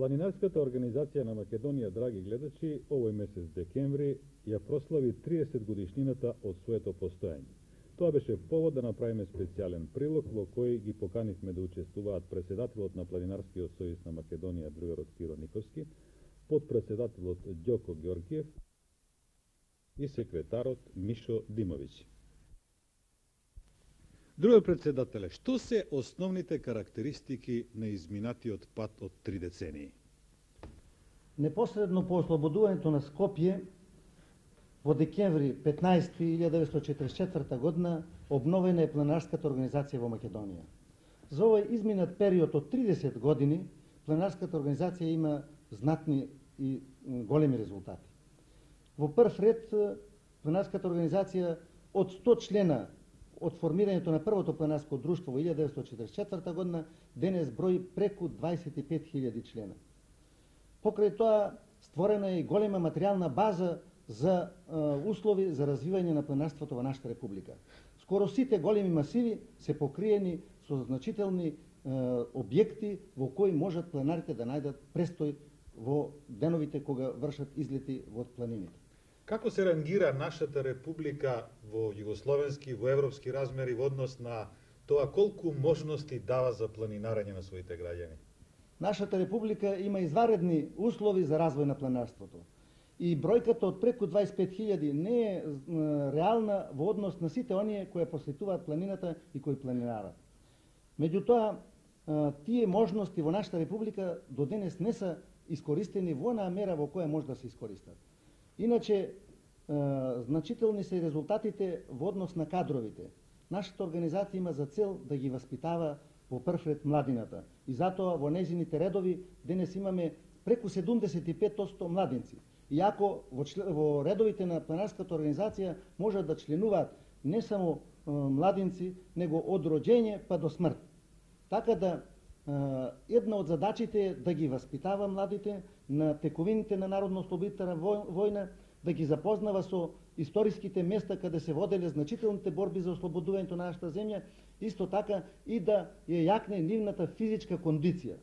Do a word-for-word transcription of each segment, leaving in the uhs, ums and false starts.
Планинарската организација на Македонија, драги гледачи, овој месец декември ја прослави триесет годишнината од своето постоење. Тоа беше повод да направиме специјален прилог во кој ги поканивме да учествуваат председателот на Планинарскиот сојуз на Македонија, другарот Киро Никовски, подпредседателот Ѓоко Ѓоргиев и секретарот Мишо Димовиќ. Другиот председателе, што се основните карактеристики на изминатиот пат од три децении? Непосредно по ослободувањето на Скопје во декември петнаесети илјада деветстотини четиридесет и четврта година обновена е планинарската организација во Македонија. За овој изминат период од тридесет години планинарската организација има знатни и големи резултати. Во прв ред планинарската организација од сто члена од формирањето на првото планинарско друштво во илјада деветстотини четиридесет и четврта година денес брои преку дваесет и пет илјади члена. Покрај тоа створена е и голема материјална база за е, услови за развивање на планинарството во нашата република. Скоро сите големи масиви се покриени со значителни е, објекти во кои можат планинарите да најдат престој во деновите кога вршат излети во планините. Како се рангира нашата република во југословенски, во европски размери во однос на тоа колку можности дава за планинарење на своите граѓани? Нашата република има изваредни услови за развој на планинарството. И бројката од преку дваесет и пет илјади не е реална во однос на сите оние кои посетуваат планината и кои планинарат. Меѓутоа, тие можности во нашата република до денес не се искористени во онаа мера во која може да се искористат. Иначе, значителни се резултатите во однос на кадровите. Нашата организација има за цел да ги васпитава во прв ред младината. И затоа во незините редови денес имаме преку седумдесет и пет одсто младинци. Иако во, во редовите на планинарската организација можат да членуваат не само е, младинци, него од роѓење па до смрт. Така да е, една од задачите е да ги васпитава младите на тековините на народно-ослободителна војна, да ги запознава со историските места каде се воделе значителните борби за ослободувањето на нашата земја, исто така и да ја јакне нивната физичка кондиција.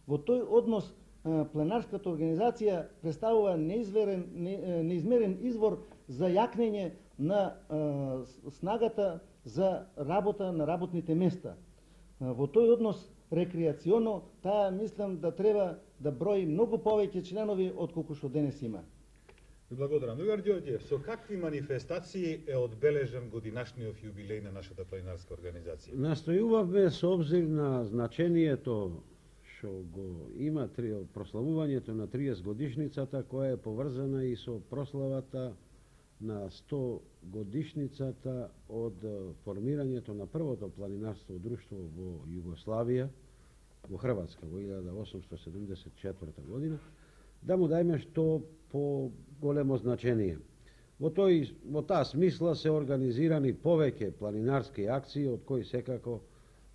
Во тој однос планинарската организација представува неизверен, не, неизмерен извор за јакнење на е, снагата за работа на работните места. Во тој однос рекреационо, таа мислам да треба да брои многу повеќе членови од колку што денес има. Благодарам. Другар Ѓорѓиев, со какви манифестации е одбележен годинашниот јубилеј на нашата планинарска организација? Настојувавме со обзир на значението што го има прославувањето на триесет годишницата, која е поврзана и со прославата на сто годишницата од формирањето на првото планинарско друштво во Југославија, во Хрватска, во илјада осумстотини седумдесет и четврта година, да му дајме што по големо значение. Во, тој, во таа смисла се организирани повеќе планинарски акции, од кои секако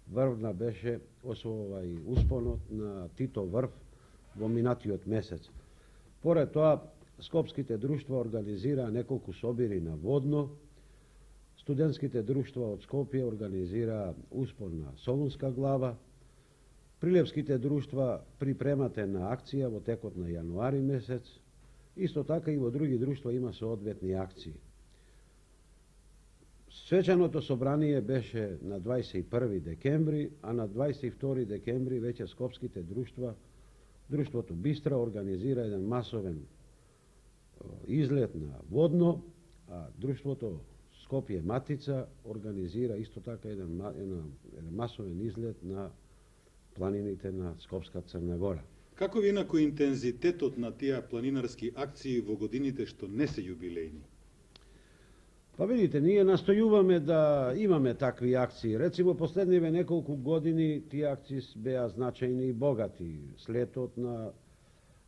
врвна беше освој успонот на Тито врв во минатиот месец. Поред тоа, скопските друштва организираа неколку собири на Водно, студентските друштва од Скопје организираа успон на Солунска глава, прилепските друштва припремат една акција во текот на јануари месец, исто така и во други друштва има соодветни акции. Свечаното собрание беше на дваесет и први декември, а на дваесет и втори декември веќе скопските друштва, друштвото Бистра организира еден масовен излет на Водно, а друштвото Скопје Матица организира исто така еден, еден, еден масовен излет на планините на Скопска Црна Гора. Како ви инаку интензитетот на тие планинарски акции во годините што не се јубилејни? Па видите, ние настојуваме да имаме такви акции. Рецимо, последниве неколку години тие акции беа значајни и богати. Слетот на,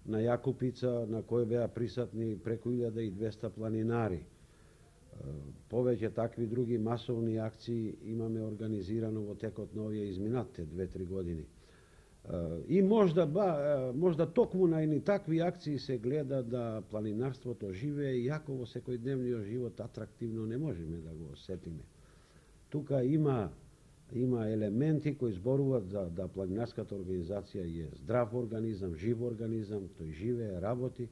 на Јакупица, на кој беа присатни преку илјада и двесте планинари. Повеќе такви други масовни акции имаме организирано во текот на овие изминатите две-три години. И можда, ба, можда токму на едни такви акции се гледа да планинарството живее, иако во секојдневниот живот атрактивно не можеме да го осетиме. Тука има има елементи кои зборуваат за да планинарската организација е здрав организам, жив организам, тој живее, работи.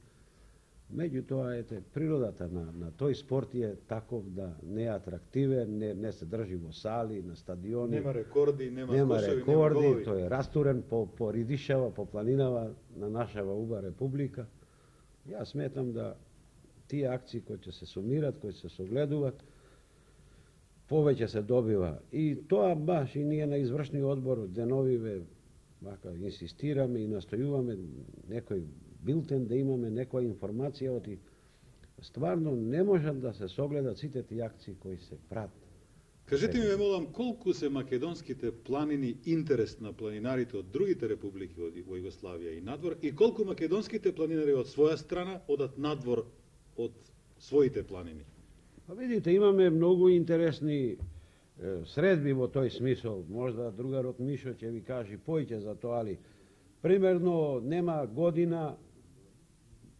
Меѓутоа, ете, природата на, на тој спорт е таков да не е атрактивен, не, не се држи во сали, на стадиони. Нема рекорди, нема, нема кошеви, рекорди, нема голови. тој е растурен по, по ридишава, по планинава на нашава уба република. Јас сметам да тие акции кои ќе се сумират, кои се согледуваат, повеќе се добива. И тоа баш и ние на извршниот одбор деновиве вака инсистираме и настојуваме некој билтен да имаме некоја информација, оти стварно не можат да се согледат сите тие акции кои се прават. Кажете ми, ве молам, колку се македонските планини интерес на планинарите од другите републики во Југославија и надвор, и колку македонските планинари од своја страна одат надвор од своите планини? Па видите, имаме многу интересни е, средби во тој смисол. Можда другарот Мишо ќе ви кажи поиќе за тоа, али примерно нема година,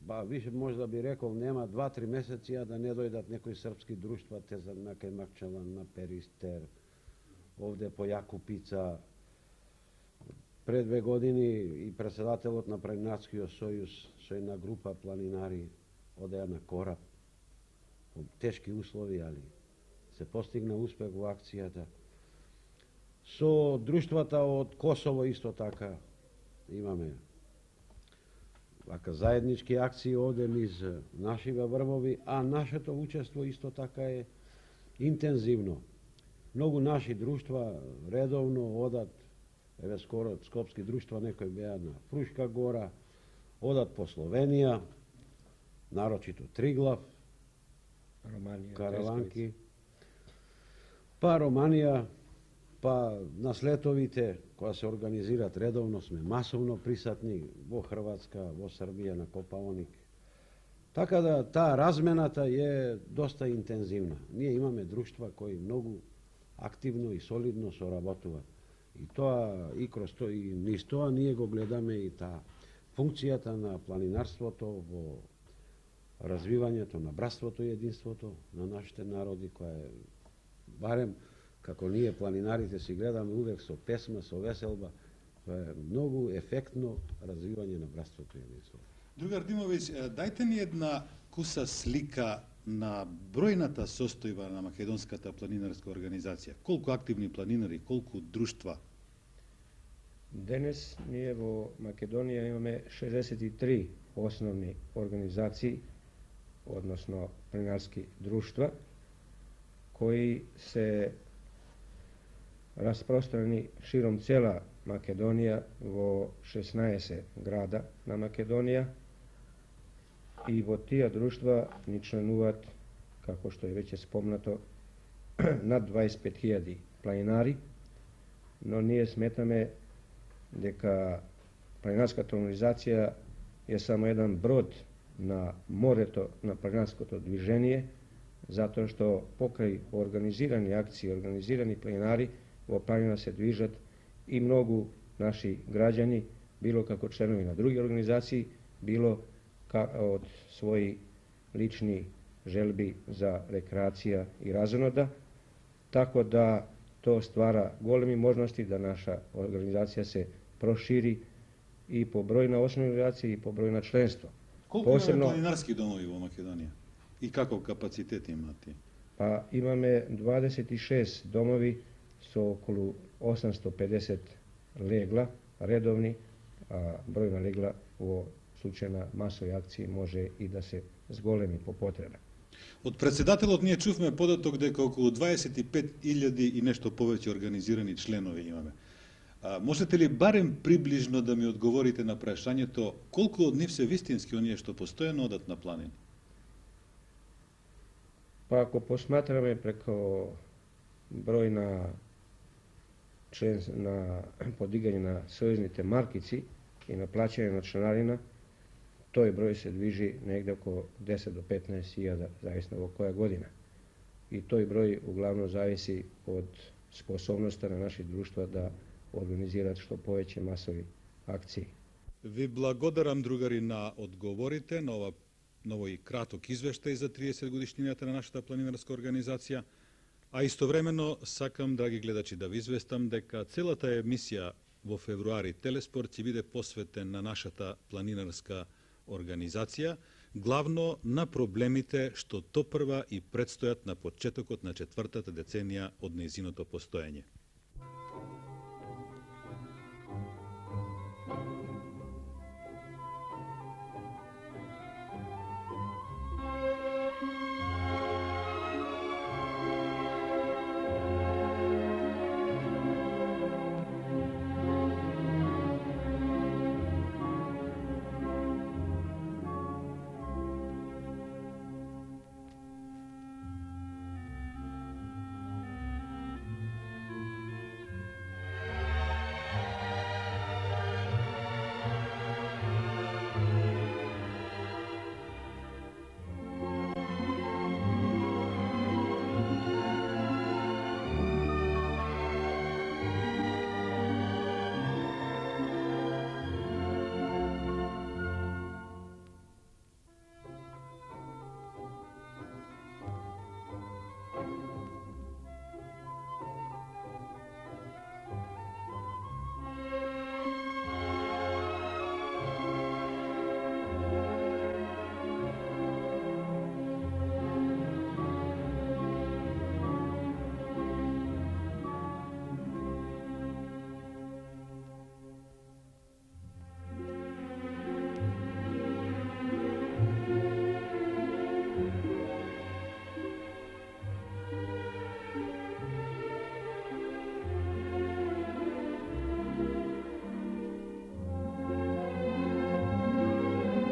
ба више можда би рекол, нема два-три месеци а да не дојдат некои српски друштва, те за на кај Макчалан, на Перистер, овде по Јакупица. Пред две години и председателот на Планинарскиот сојуз со една група планинари одеа на кораб во тешки услови, али се постигна успех во акцијата. Со друштвата од Косово исто така имаме вака заеднички акции овде низ нашиве врвови, а нашето учество исто така е интензивно. Многу наши друштва редовно одат, еве скоро скопски друштва некои беа на Фрушка гора, одат по Словенија, нарочито Триглав, Романија, караванки, па Романија, па на слетовите, која се организират редовно, сме масовно присатни во Хрватска, во Србија, на Копаоник. Така да таа размената е доста интензивна. Ние имаме друштва кои многу активно и солидно соработуваат. И тоа, и кроз тоа, и низ тоа ние го гледаме и таа функцијата на планинарството во развивањето на братството и единството на нашите народи, која е барем како ние планинарите си гледаме увек со песма, со веселба, тоа е многу ефектно развивање на братството и единството. Другар Димовиќ, дајте ни една куса слика на бројната состојба на македонската планинарска организација. Колку активни планинари, колку друштва? Денес ние во Македонија имаме шеесет и три основни организации, односно планинарски друштва, кои се распространи широм цела Македонија во шеснаесет града на Македонија, и во тие друштва ни членуваат, како што е веќе спомнато, над дваесет и пет илјади планинари, но ние сметаме дека планинарската организација е само еден брод на морето на планинарското движение, затоа што покрај организирани акции, организирани планинари, во планина се движат и многу наши граѓани, било како членови на други организации, било од своји лични желби за рекреација и разонода, така да тоа ствара големи можности да наша организација се прошири и по број на основни организации и по број на членство. Колку Посебно... имаме планинарски домови во Македонија? И каков капацитет имате? Па имаме дваесет и шест домови со околу осумсто и педесет легла редовни, а број на легла во случај на масови акции може и да се зголеми по потреба. Од председателот ние чувме податок дека околу дваесет и пет илјади и нешто повеќе организирани членови имаме. А, можете ли барем приближно да ми одговорите на прашањето колку од нив се вистински оние што постојано одат на планини? Па ако посматраме преко број на член на подигање на сојузните маркици и на плаќање на членарина, тој број се движи негде околу десет до петнаесет илјада, зависно во која година. И тој број углавно зависи од способноста на наши друштва да организираат што повеќе масови акции. Ви благодарам, другари, на одговорите на ова на овој краток извештај за триесет годишнината на нашата планинарска организација. А истовремено сакам, драги гледачи, да ви известам дека целата емисија во февруари Телеспорт ќе биде посветен на нашата планинарска организација, главно на проблемите што топрва и предстојат на почетокот на четвртата деценија од нејзиното постоење.